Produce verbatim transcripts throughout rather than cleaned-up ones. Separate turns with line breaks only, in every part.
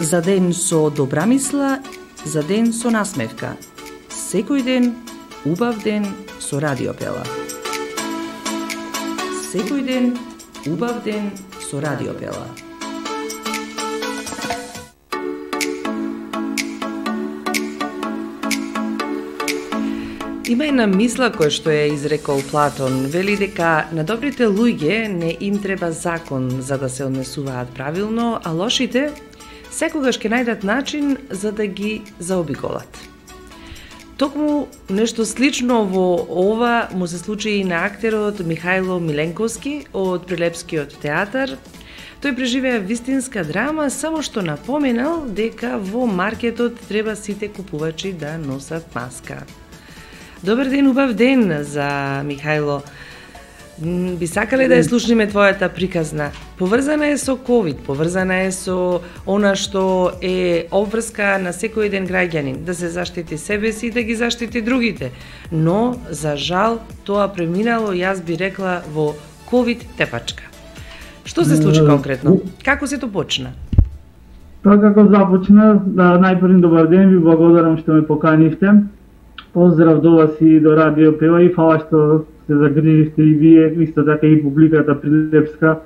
За ден со добра мисла, за ден со насмевка. Секој ден, убав ден со Радио Пела. Секој ден, убав ден со Радио Пела. Има една мисла која што ја изрекол Платон, вели дека на добрите луѓе не им треба закон за да се однесуваат правилно, а лошите секогаш ќе најдат начин за да ги заобиколат. Токму нешто слично во ова му се случи и на актерот Михајло Миленковски од Прилепскиот театар. Тој преживеа вистинска драма, само што напоменал дека во маркетот треба сите купувачи да носат маска. Добар ден, убав ден за Михајло. Би сакале да ја слушнеме твојата приказна. Поврзана е со ковид, поврзана е со она што е обврска на секој ден граѓанин, да се заштити себе си и да ги заштити другите. Но, за жал, тоа преминало, јас би рекла, во ковид тепачка. Што се случи конкретно? Како се тоа почна?
Тоа како започна, да, најпрви добар ден, ви благодарам што ме поканивте. Поздрав до вас и до Радио Пела и фала што се загриживте и вие, исто така и публиката Прилепска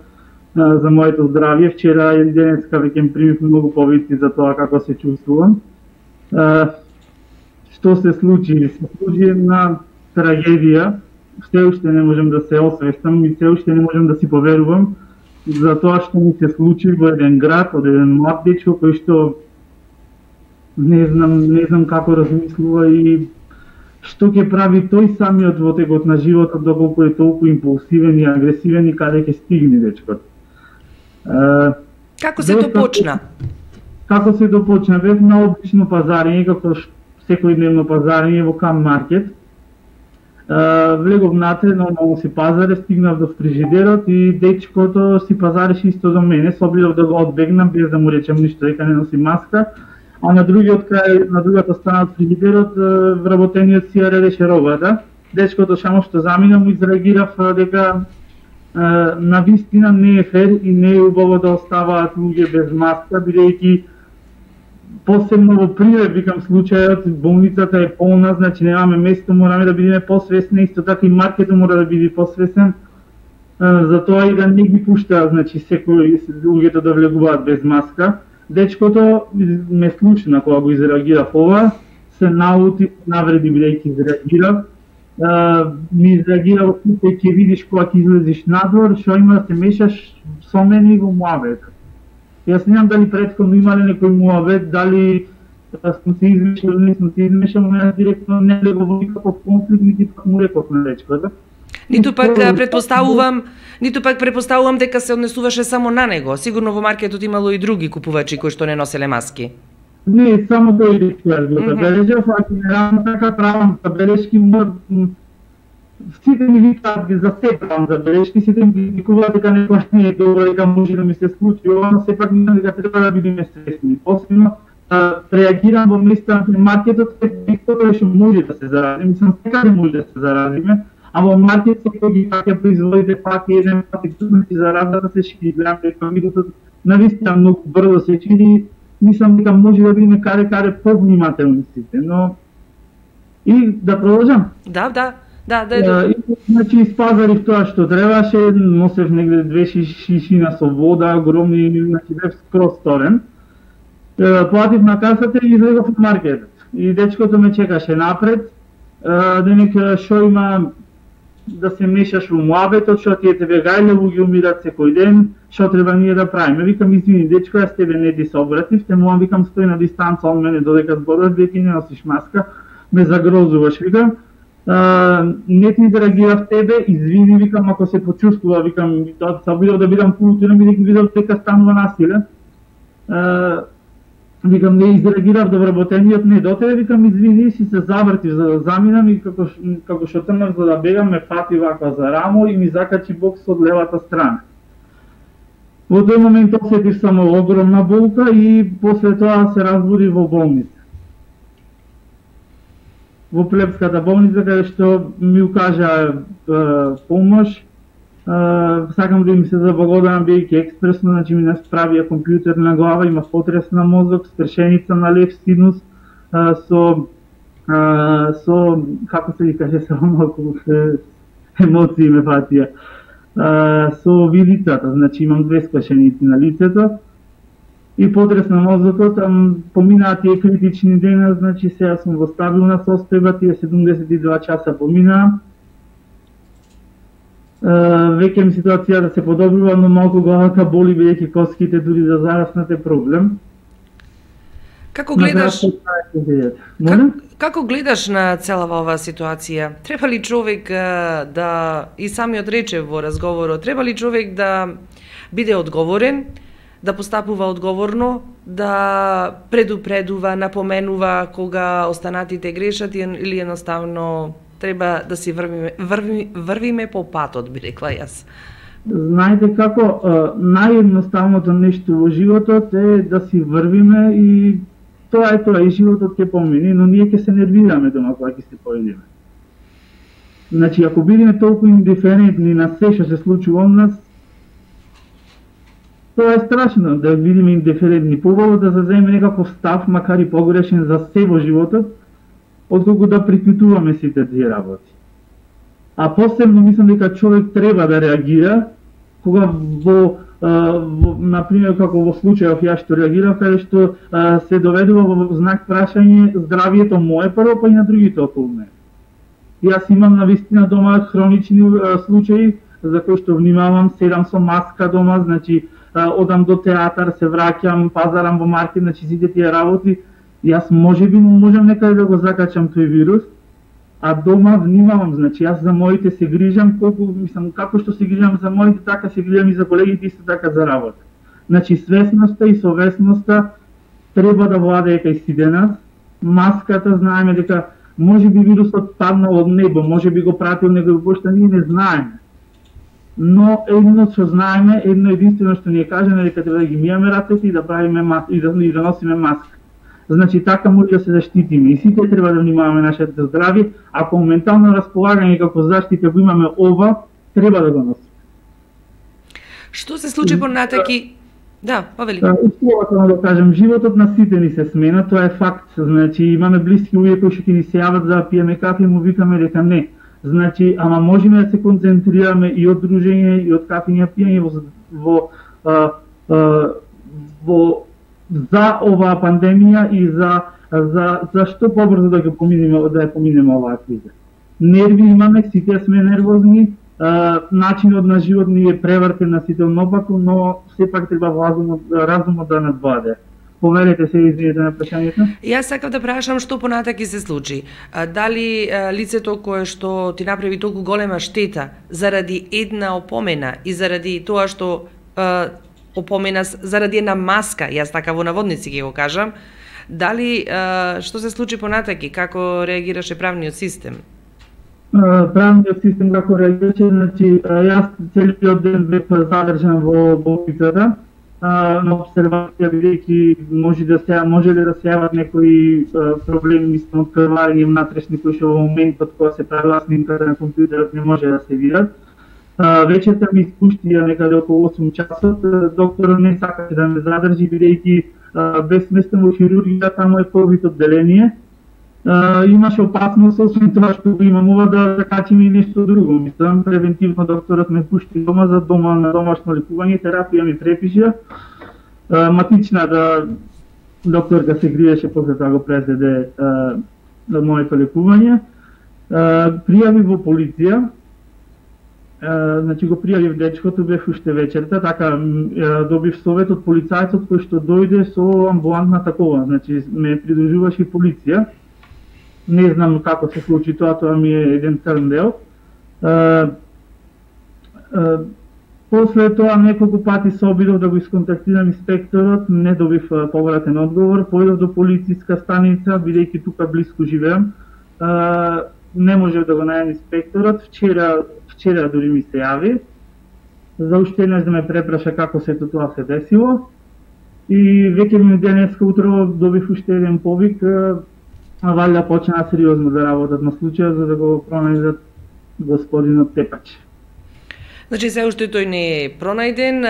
за моето здравје. Вчера и денеска веќе примив многу повести за тоа како се чувствувам. Што се случи? Се случи една трагедија. Се уште не можам да се освестам и се уште не можам да си поверувам за тоа што ми се случи во еден град, од еден млад дечко кој што не знам, не знам како размислува и што ќе прави тој самиот во текот на животот, доколку е толку импулсивен и агресивен и каде ќе стигне дечкот.
Како се тоа почна?
Како се тоа почна? Бев на обично пазарење, како секојдневно пазарење во Кам Маркет. Влегов натре, нормално си пазаре, стигнав до фрижидерот и дечкото си пазареше исто до мене, се обидов да го одбегнам без да му речем ништо, дека не носи маска. А на другиот крај, на другата страна од фрижидерот, вработениот си ја редеше робата. Дечкото само што замина му изреагирав дека на вистина не е фер и не е убаво да оставаат луѓе без маска, бидејќи посебно во Прилеп, викам случајот, болницата е полна, значи немаме место, мораме да бидеме посвесни, исто така и маркетот мора да биде посвесен, за тоа и да не ги пушта, значи секој луѓето да влегуваат без маска. Дечкото ме случна кога го изреагирав ова, се наути, навреди бидејќи изреагирав. Ми изреагирав, ќе видиш кога ќе излезеш надвор, што има да се мешаш со мене и во муабет. Јас не знам дали претходно имале некој муабет, дали сме се измешали или не сме се измешали, но јас директно не лего во никаков конфликт, нити пак му реков на дечкото.
Ниту пак претпоставувам, ниту пак претпоставувам дека се однесуваше само на него. Сигурно во маркетот имало и други купувачи кои што не носеле маски.
Не, само тој дечко јас го забележав, а генерално така правам забелешки, сите ми викаат за се правам забелешки, сите ми викуваат дека некој не е добро, дека може да ми се случи, но сепак мислам дека треба да бидеме свесни. Посебно реагирам во места на маркетот, секој што може да се зарази, мислам секаде може да се заразиме. А во маркет секој ги паке производите пак еден пак и тука си заразата се шири, гледам дека видот навистина многу брзо се шири, мислам дека може да бидеме каде каде повнимателни сите, но и да продолжам.
Да, да, да, да.
И, значи испазарив тоа што требаше, носев негде две шишина со вода, огромни, значи бев скроз сторен. Платив на касата и излегов од маркетот. И дечкото ме чекаше напред, денека што има да се мешаш во муабетот, што тие тебе гајле луѓе умират секој ден, што треба ние да правиме. Викам, извини дечко, јас тебе не ти се обратив, те му викам стои на дистанца од мене додека зборуваш, дека не носиш маска, ме загрозуваш, викам. Не ти изреагирав тебе, извини, викам, ако се почувствува, викам, тоа се обидов да бидам културен, бидејќи видов дека станува насиле. Викам, не изреагирав до вработениот, не до тебе, викам, извини, си се завртив за да заминам и како, како што трнав за да бегам, ме фати вака за рамо и ми закачи бокс од левата страна. Во тој момент осетив само огромна болка и после тоа се разбуди во болница. Во Прилепската болница, каде што ми укажа помош, Uh, сакам да им се заблагодарам бидејќи експресно, значи ми насправија компјутер на глава, има потрес на мозок, скршеница на лев синус, uh, со uh, со како се ги каже, само малку емоции ме фатија. Uh, со вилицата, значи имам две скршеници на лицето и потрес на мозокот, там поминаа тие критични дена, значи сега сум во стабилна состојба, тие седумдесет и два часа поминаа. Uh, веќе ми ситуацијата се подобрува, но малку главата боли бидејќи коските дури да зараснат е проблем.
Како гледаш как, како гледаш на целава оваа ситуација? Треба ли човек uh, да и самиот рече во разговорот, треба ли човек да биде одговорен, да постапува одговорно, да предупредува, напоменува кога останатите грешат или едноставно треба да си врвиме, врви, врвиме по патот, би рекла јас?
Знаете како, наједноставното нешто во животот е да си врвиме и тоа е тоа, и животот ќе помине, но ние ќе се нервираме дома кога ќе се појдеме. Значи, ако бидеме толку индиферентни на се што се случува од нас, тоа е страшно да бидеме индиферентни. Побаво да заземе некаков став, макар и погрешен за се во животот, отколку да прикутуваме сите тие работи. А посебно мислам дека човек треба да реагира кога во, во например како во случајов ја што реагирав, каде што а, се доведува во знак прашање здравието мое прво, па и на другите околу мене. Јас имам навистина дома хронични а, случаи за кои што внимавам, седам со маска дома, значи а, одам до театар, се враќам, пазарам во маркет, значи сите тие работи. Јас можеби можам некаде да го закачам тој вирус, а дома внимавам, значи јас за моите се грижам, колку мислам како што се грижам за моите, така се грижам и за колегите, исто така за работа. Значи свесноста и совесноста треба да владее кај сите нас. Маската знаеме дека можеби вирусот паднал од небо, можеби го пратил некој пошта, ние не знаеме. Но едно што знаеме, едно единствено што ни е кажано дека треба да ги миеме рацете и да правиме маска, и да, и да носиме маска. Значи така може да се заштитиме и сите треба да внимаваме нашето здравје, ако моментално располагање како заштита го имаме ова, треба да го носиме.
Што се случи понатаки? Да, повели.
Да, условно да кажем, животот на сите ни се смена, тоа е факт. Значи имаме блиски луѓе кои што ќе ни се јават за да пиеме кафе и му викаме дека не. Значи, ама можеме да се концентрираме и од дружење и од кафење пиење во во, а, а, во за оваа пандемија и за за за што побрзо да го поминеме да ја поминеме оваа криза. Нерви имаме, сите сме нервозни, а, начинот на живот ни е превртен на сите наопаку, но сепак треба разумот разумот да надвладе. Поверете се, извинете на прашањето.
Јас сакав да прашам што понатаки се случи. А, дали а, лицето кое што ти направи толку голема штета заради една опомена и заради тоа што а, опомена заради една маска, јас така во наводници ќе го кажам, дали а, што се случи понатаки, како реагираше правниот систем?
Правниот систем како реагираше, значи јас целиот ден бев задржан во болницата на обсервација, бидејќи може да се може ли да се јават некои проблеми, мислам, од крварење внатрешни кои што во моментот кога се правила снимката на компјутерот не може да се видат. Вечерта ми испуштија некаде околу осум часот, докторот не сакаше да ме задржи, бидејќи бев сместен во хирургија, таму е ковид одделение. Имаше опасност, освен тоа што го имам ова, да закачиме и нешто друго. Мислам, превентивно докторот ме пушти дома за дома на домашно лекување, терапија ми препиша. Матична да докторка се гриеше, после тоа го презеде за моето лекување. Пријави во полиција. Uh, значи го пријавив дечкото, бев уште вечерта, така uh, добив совет од полицајцот кој што дојде со амбулантна такова, значи ме придружуваше полиција. Не знам како се случи тоа, тоа ми е еден црн дел. Uh, uh, после тоа неколку пати се обидов да го исконтактирам инспекторот, не добив uh, повратен одговор, појдов до полициска станица, бидејќи тука блиску живеам. Uh, не можев да го најдам инспекторот, вчера Вчера дури ми се јави, за уште еднаш да ме препраша како сето тоа се десило. И веќе ми денеска утро добив уште еден повик, а валја почна сериозно да работат на случајот за да го пронајдат господинот Тепач.
Значи се уште тој не е пронајден,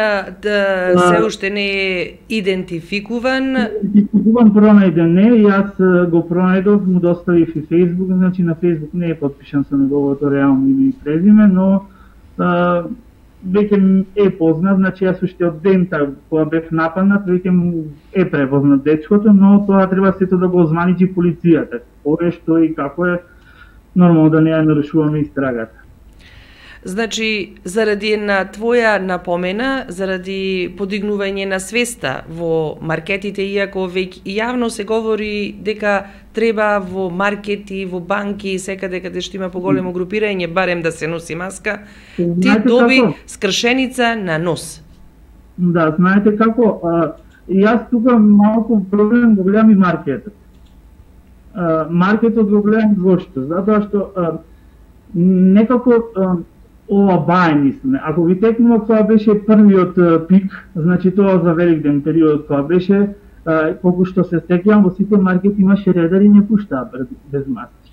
да, се уште не е идентификуван.
Идентификуван, пронајден не, јас го пронајдов, му доставив и Facebook, значи на Facebook не е подпишан со неговото реално име и презиме, но а, веќе е познат, значи јас уште од дента кога бев нападнат, веќе е препознат дечкото, но тоа треба сето да го озваничи полицијата. Кое, што и како е, нормално да не ја нарушуваме истрагата.
Значи, заради една твоја напомена, заради подигнување на свеста во маркетите, иако веќе јавно се говори дека треба во маркети, во банки, секаде каде што има поголемо групирање, барем да се носи маска, ти
знаете
доби
како?
скршеница на нос.
Да, знаете како, а, јас тука малку проблем го гледам и маркетот. А, маркетот го гледам зошто? Затоа што а, некако а, ова бај мислиме. Ако ви текнува кога беше првиот пик, значи тоа за Великден период кога беше, колку што се сеќавам, во сите маркети имаше редари и не пуштаа без маски.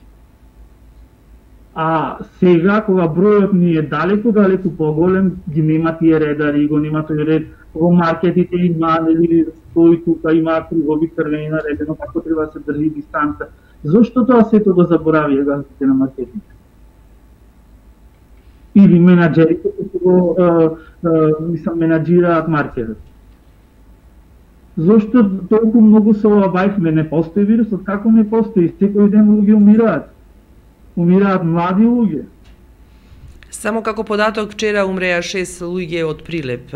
А сега, кога бројот ни е далеку, далеку поголем, ги нема тие редари, го нема тој ред, во маркетите има, нели, стои тука, има кругови црвени наредено, како треба да се држи дистанца. Зошто тоа сето го заборавија газите на маркетите? Или менаџерите кои го мислам менаџираат маркетот. Зошто толку многу се олабајхме? Не постои вирусот, како не постои? Секој ден луѓе умираат. Умираат млади луѓе.
Само како податок, вчера умреа шест луѓе од прилеп.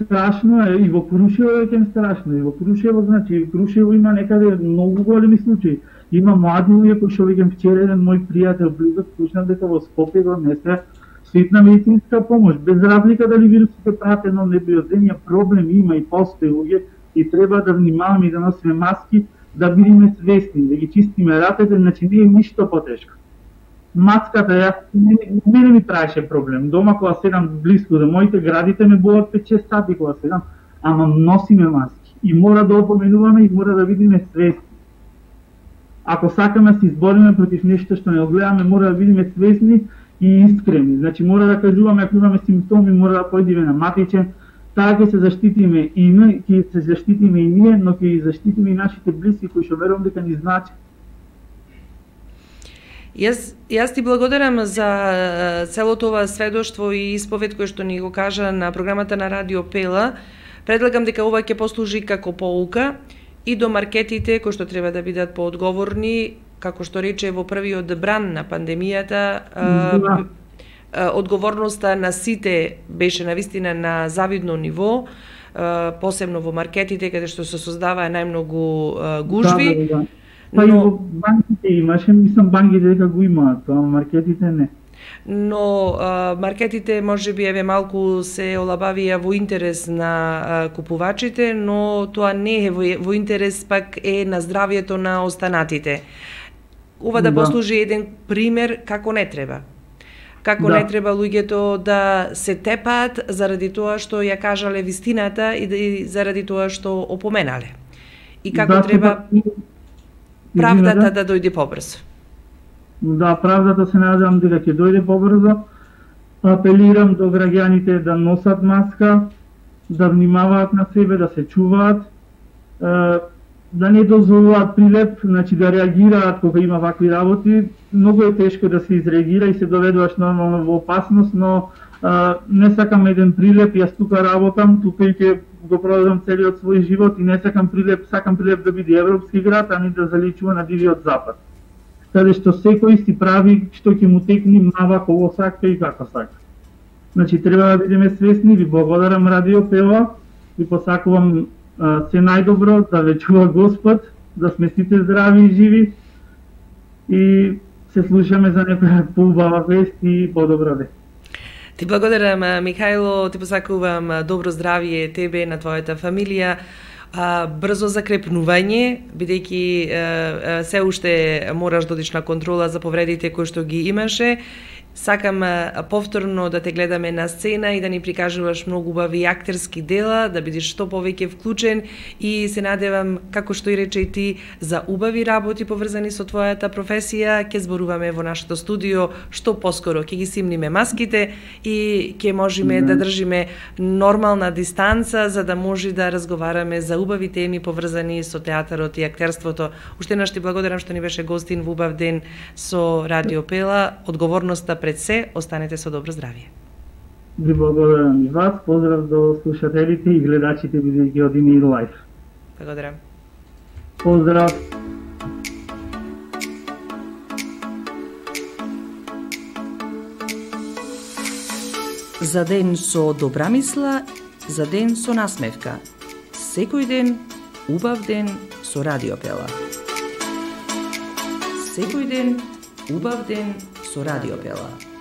Страшно е, и во Крушево е кен страшно, и во Крушево, значи, Крушево има некаде многу големи случаи. Има млади луѓе кои што веќе вчера еден мој пријател близок слушнав дека во Скопје го несе ситна медицинска помош, без разлика дали вирусот е пратен од небиоземја, проблем има и постои луѓе и треба да внимаваме и да носиме маски, да бидеме свесни, да ги чистиме ратите, значи не е ништо потешко. Маската, јас, мене ми правеше проблем. Дома кога седам близко до моите, градите ме болат пет-шест сати кога седам, ама носиме маски. И мора да опоменуваме и мора да бидеме свесни. Ако сакаме да се избориме против нешто што не го гледаме, мора да бидеме свесни и искрени. Значи мора да кажуваме ако имаме симптоми, мора да појдеме на матичен, така ќе се заштитиме и ние, ќе се заштитиме и ние, но ќе заштитиме и нашите блиски кои што верувам дека ни значат.
Јас, јас ти благодарам за целото ова сведоштво и исповед кој што ни го кажа на програмата на Радио Пела. Предлагам дека ова ќе послужи како поука и до маркетите кои што треба да бидат поодговорни, како што рече во првиот бран на пандемијата,
Да.
одговорноста на сите беше навистина на завидно ниво, посебно во маркетите каде што се создаваа најмногу гужви.
Да, да, да. Па но... и во банките имаше, мислам банките дека го имаат, тоа маркетите не.
Но а, маркетите можеби еве малку се олабавија во интерес на а, купувачите, но тоа не е во, во интерес пак е на здравјето на останатите. Ова да, да послужи еден пример како не треба. Како да. Не треба луѓето да се тепаат заради тоа што ја кажале вистината и, да, и заради тоа што опоменале. И како да, треба правдата да дојде побрзо.
Да, правдата се надевам дека ќе дојде побрзо. Апелирам до граѓаните да носат маска, да внимаваат на себе, да се чуваат, да не дозволуваат прилеп, значи да реагираат кога има вакви работи. Многу е тешко да се изреагира и се доведуваш нормално во опасност, но не сакам еден прилеп, јас тука работам, тука и ќе го продадам целиот свој живот и не сакам прилеп, сакам прилеп да биде европски град, а не да заличува на дивиот запад. Каде што секој си прави што ќе му текне мава кого сака и како сака. Значи треба да бидеме свесни, ви благодарам Радио Пела, ви посакувам а, се најдобро, да ве чува Господ, да сме сите здрави и живи и се слушаме за некоја поубава вест и подобра вест.
Ти благодарам, Михајло, ти посакувам добро здравје тебе, на твојата фамилија, брзо закрепнување, бидејќи се уште мораш да одиш на контрола за повредите кои што ги имаше Сакам повторно да те гледаме на сцена и да ни прикажуваш многу убави актерски дела, да бидеш што повеќе вклучен и се надевам, како што и рече и ти, за убави работи поврзани со твојата професија. Ќе зборуваме во нашето студио што поскоро, ќе ги симниме маските и ќе можеме mm-hmm. да држиме нормална дистанца за да може да разговараме за убави теми поврзани со театарот и актерството. Уште еднаш ти благодарам што ни беше гостин во убав ден со Радио Пела. Одговорноста пред се, останете со добро здравје.
Ви благодарам и вас, поздрав до слушателите и гледачите бидејќи од Ини Лайф.
Благодарам.
Поздрав.
За ден со добра мисла, за ден со насмевка. Секој ден, убав ден со Радио Пела. Секој ден, убав ден со Радио Пела.